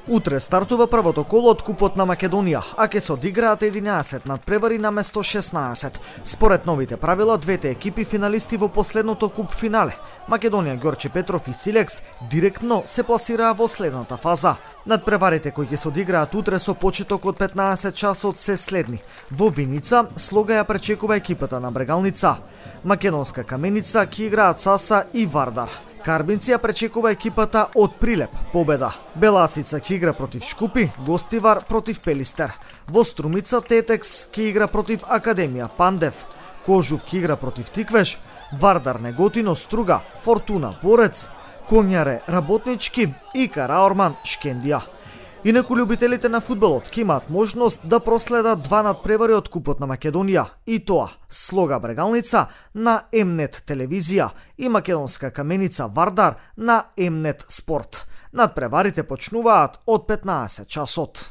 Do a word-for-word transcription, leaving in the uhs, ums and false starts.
Утре стартува првото коло од Купот на Македонија, а ќе се одиграат единаесет надпревари наместо шеснаесет. Според новите правила, двете екипи финалисти во последното куп финале, Македонија, Ѓорче Петров и Силекс, директно се пласираа во следната фаза. Надпреварите кои ќе се одиграат утре со почеток од петнаесет часот се следни. Во Виница Слога ја пречекува екипата на Брегалница. Македонска Каменица ќе играат Саса и Вардар. Карбинци ја пречекува екипата од Прилеп, Победа. Беласица ќе игра против Шкупи, Гостивар против Пелистер. Во Струмица Тетекс ќе игра против Академија, Пандев. Кожув ќе игра против Тиквеш, Вардар Неготино, Струга, Фортуна, Борец, Конјаре, Работнички и Караорман, Шкендија. Инаку љубителите на фудбалот ќе имаат можност да проследат два надпревари од Купот на Македонија, и тоа Слога Брегалница на Емнет телевизија и Македонска Каменица Вардар на Емнет спорт. Надпреварите почнуваат од петнаесет часот.